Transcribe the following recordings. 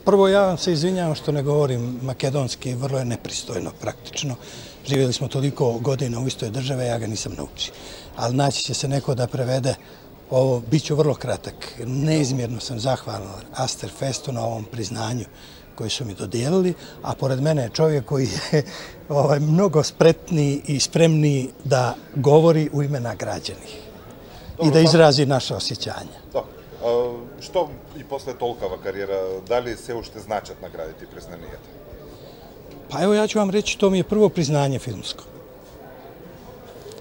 Prvo, ja vam se izvinjavam što ne govorim makedonski, vrlo je nepristojno praktično. Živjeli smo toliko godina u istoj države, ja ga nisam naučio. Ali naći će se neko da prevede ovo, bit ću vrlo kratak. Neizmjerno sam zahvalan Asterfestu na ovom priznanju koji su mi dodijelili, a pored mene je čovjek koji je mnogo spretniji i spremniji da govori u ime nagrađenih i da izrazi naše osjećanja. Што и после толкова кариера, дали се уште значат наградите и признанијата? Pa evo ja ću vam reći, to mi je prvo priznanje filmsko.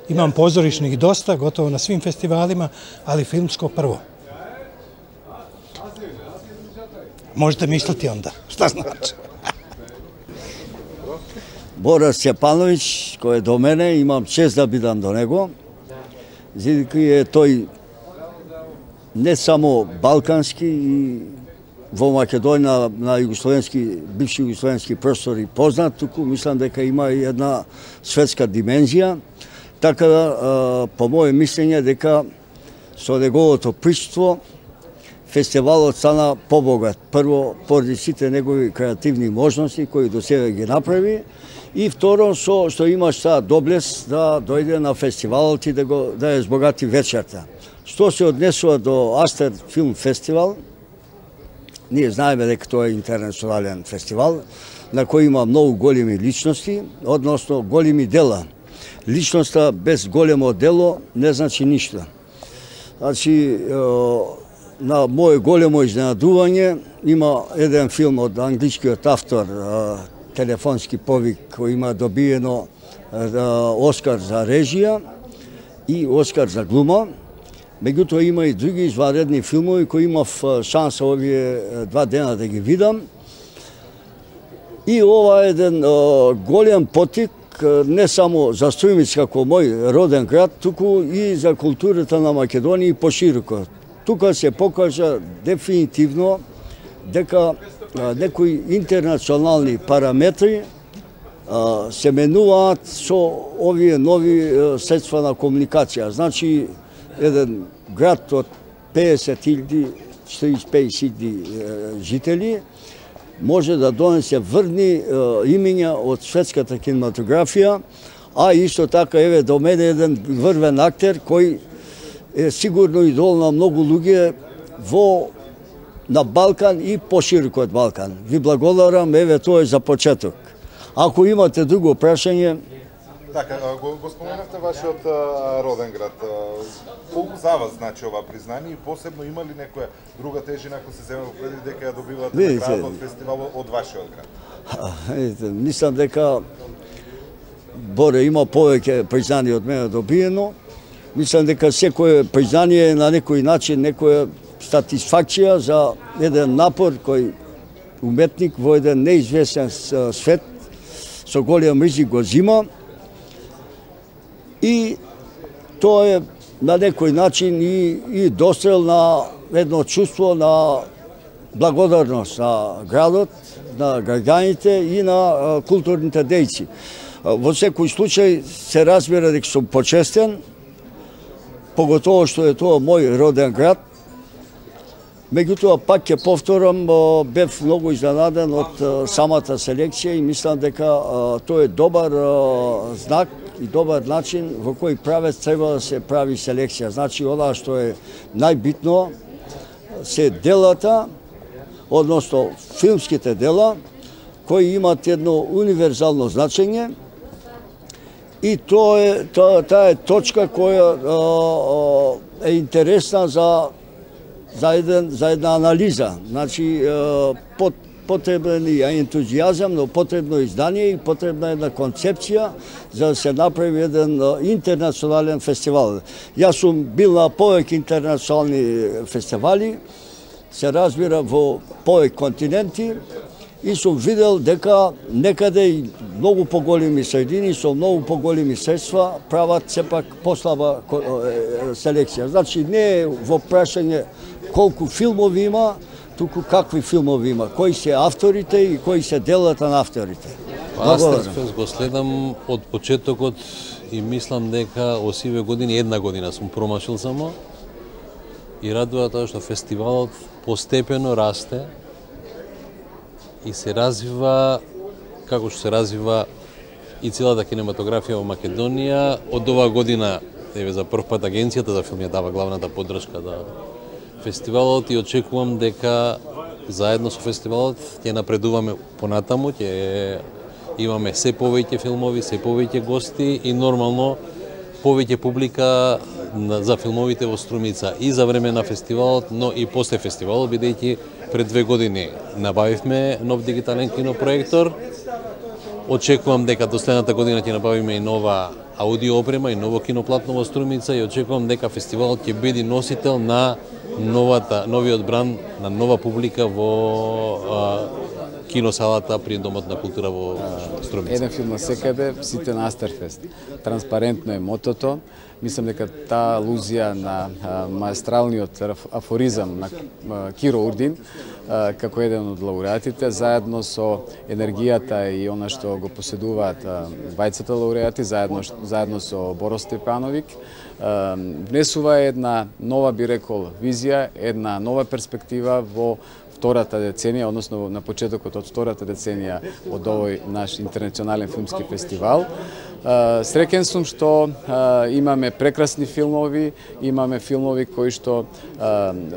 Imam pozorišnih dosta, gotovo na svim festivalima, ali filmsko prvo. Možete misliti onda šta znači. Бора Степановиќ, кој е до мене, имам чест да бидам до него. Зидики е тој не само балкански и во Македонија на југословенски, бивши југословенски простори познат, туку мислам дека има и една светска димензија. Така да, по моје мислење, дека со неговото присуство фестивалот стана побогат. Прво, поради сите негови креативни можности кои до сега ги направи, и второ, што имаш таа доблест да дојде на фестивалот и да ја збогати вечерта. Што се однесува до Астер филм фестивал, ние знаеме дека тоа е интернационален фестивал, на кој има многу големи личности, односно големи дела. Личноста без големо дело не значи ништо. Значи, на моје големо изненадување, има еден филм од англискиот автор, Телефонски повик, кој има добиено Оскар за режија и Оскар за глума. Меѓутоа има и други изваредни филмови кои имав шанса овие 2 дена да ги видам. И ова е еден голем потик не само за Струјмиц како мој роден град, туку и за културата на Македонија и пошироко. Тука се покажа дефинитивно дека некои интернационални параметри се менуваат со овие нови средства на комуникација. Значи, еден град од 50.000-45.000 жители може да донесе врни имиња од светската кинематографија, а исто така еве до мене еден врвен актер кој е сигурно идол на многу луѓе на Балкан и пошироко од Балкан. Ви благодарам, еве тоа е за почеток. Ако имате друго прашање... Така, го споменавте вашиот роден град. Колку за вас значи ова признание и посебно има ли некоја друга тежина ако се земе во предвид дека ја добивате награда од фестивалот од вашиот град? Мислам дека Боре има повеќе признание од мене добиено. Мислам дека секое признание е на некој начин некоја сатисфакција за еден напор кој уметник во еден неизвестен свет со голем ризик го зима. И тоа е на некој начин и дострел на едно чувство на благодарност на градот, на граѓаните и на културните дејци. Во секој случај се разбира дека сум почестен, поготово што е тоа мој роден град. Меѓутоа, пак ќе повторам, бев многу изненаден од самата селекција и мислам дека тоа е добар знак и добар начин во кој правец треба да се прави селекција. Значи, онаа што е најбитно се делата, односно филмските дела, кои имат едно универзално значење и таа е точка која е интересна за една анализа. Значи, потребен е ентузијазам, но потребно издание и потребна една концепција за да се направи еден интернационален фестивал. Јас сум бил на повеќе интернационални фестивали, се разбира во повеќе континенти и сум видел дека некаде и многу поголеми средини со многу поголеми средства прават сепак послаба селекција. Значи, не е во прашање колку филмови има, туку какви филмови има, кои се авторите и кои се делата на авторите. Астерфест го следам од почетокот и мислам дека осиве години, една година сум промашил само и радува тоа што фестивалот постепено расте и се развива како што се развива и целата кинематографија во Македонија. Од оваа година, за прв пат Агенцијата за филм ја дава главната поддршка на фестивалот и очекувам дека заедно со фестивалот ќе напредуваме понатаму, ќе имаме се повеќе филмови, се повеќе гости и нормално повеќе публика за филмовите во Струмица и за време на фестивалот, но и после фестивалот, бидејќи пред 2 години набавивме нов дигитален кинопроектор. Очекувам дека до следната година ќе набавиме и нова аудио опрема и ново киноплатно во Струмица и очекувам дека фестивалот ќе биде носител на новиот бранд на нова публика во киносалата при Домот на култура во Струмица. Еден филм на секаде, сите на Астерфест. Транспарентно е мотото. Мислам дека таа алузија на маестралниот афоризам на Киро Урдин, како еден од лауреатите, заедно со енергијата и она што го поседуваат двајцата лауреати, заедно со Боро Степановик, внесува една нова, би рекол, визија, една нова перспектива во втората деценија, односно на почетокот од втората деценија од овој наш интернационален филмски фестивал. Среќен сум што имаме прекрасни филмови, имаме филмови кои што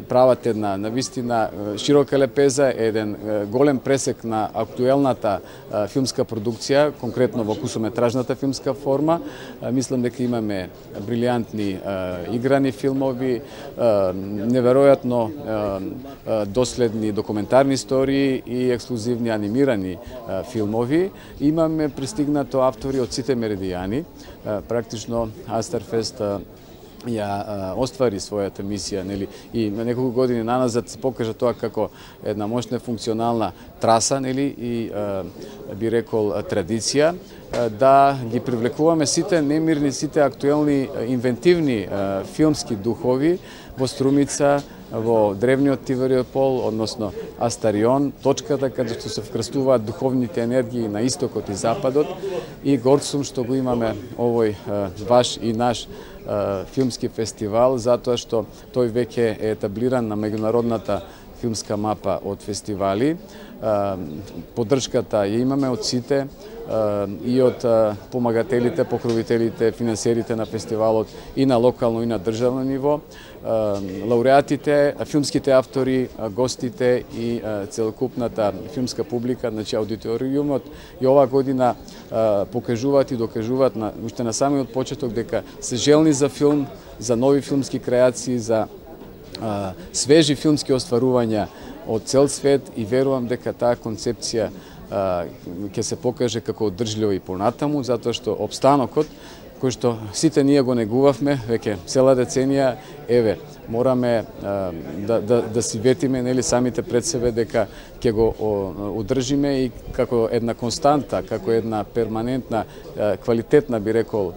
прават една навистина широка лепеза, еден голем пресек на актуелната филмска продукција, конкретно во кусометражната филмска форма. Мислам дека имаме брилијантни играни филмови, неверојатно доследни документарни истории и ексклузивни анимирани филмови. Имаме пристигнато автори од сите меридијани. Практично Астерфест ја оствари својата мисија, нели, и на неколку години наназад се покажа тоа како една мощна функционална траса, нели, и би рекол традиција, да ги привлекуваме сите немирни, сите актуелни, инвентивни филмски духови во Струмица, во древниот Тивериопол, односно Астарион, точката каде што се вкрстуваат духовните енергии на истокот и западот, и горд сум што го имаме овој ваш и наш филмски фестивал, затоа што тој веќе е етаблиран на меѓународната филмска мапа од фестивали. Поддршката ја имаме од сите, и од помагателите, покровителите, финансерите на фестивалот и на локално и на државно ниво, лауреатите, филмските автори, гостите и целокупната филмска публика, значи аудиториумот и оваа година покажуваат и докажуваат уште на самиот почеток дека се желни за филм, за нови филмски креации, за свежи филмски остварувања од цел свет и верувам дека таа концепција ќе се покаже како одржлива и понатаму, затоа што обстанокот, кој што сите ние го негувавме веќе цела деценија, еве, мораме да си ветиме, нели, самите пред себе дека ќе го одржиме и како една константа, како една перманентна, квалитетна, би рекол,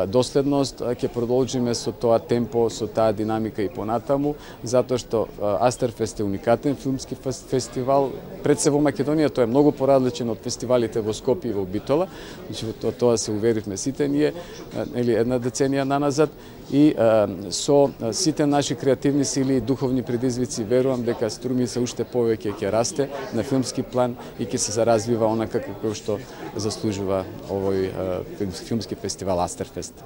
доследност, ќе продолжиме со тоа темпо, со таа динамика и понатаму, затоа што Астерфест е уникатен филмски фестивал. Пред се во Македонија тој е многу поразличен од фестивалите во Скопје и во Битола, значи тоа се уверивме сите ние, нели, една деценија наназад, и со сите наши креативни сили и духовни предизвици верувам дека Струмица уште повеќе ќе расте на филмски план и ќе се заразвива онака како што заслужува овој филмски фестивал Астерфест.